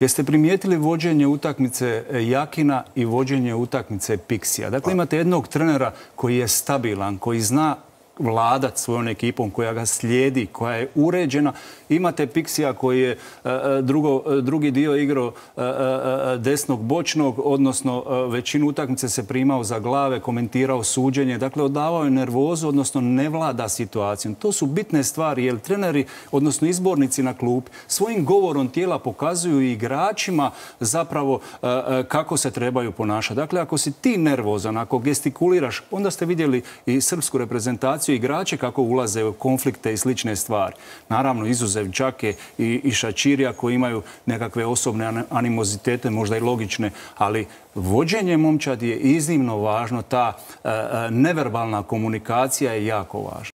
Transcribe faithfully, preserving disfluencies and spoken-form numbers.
Jeste primijetili vođenje utakmice Jakina i vođenje utakmice Pixija? Dakle, imate jednog trenera koji je stabilan, koji zna vladat svojom ekipom, koja ga slijedi, koja je uređena. Imate Pixija koji je drugo, drugi dio igrao desnog bočnog, odnosno većinu utakmice se primao za glave, komentirao suđenje. Dakle, odavao je nervozu, odnosno ne vlada situacijom. To su bitne stvari, jer treneri, odnosno izbornici na klupi, svojim govorom tijela pokazuju i igračima zapravo kako se trebaju ponašati. Dakle, ako si ti nervozan, ako gestikuliraš, onda ste vidjeli i srpsku reprezentaciju, igrače kako ulaze u konflikte i slične stvari. Naravno, izuzev Džake i, i Šačirija koji imaju nekakve osobne animozitete, možda i logične, ali vođenje momčadi je iznimno važno, ta e, neverbalna komunikacija je jako važna.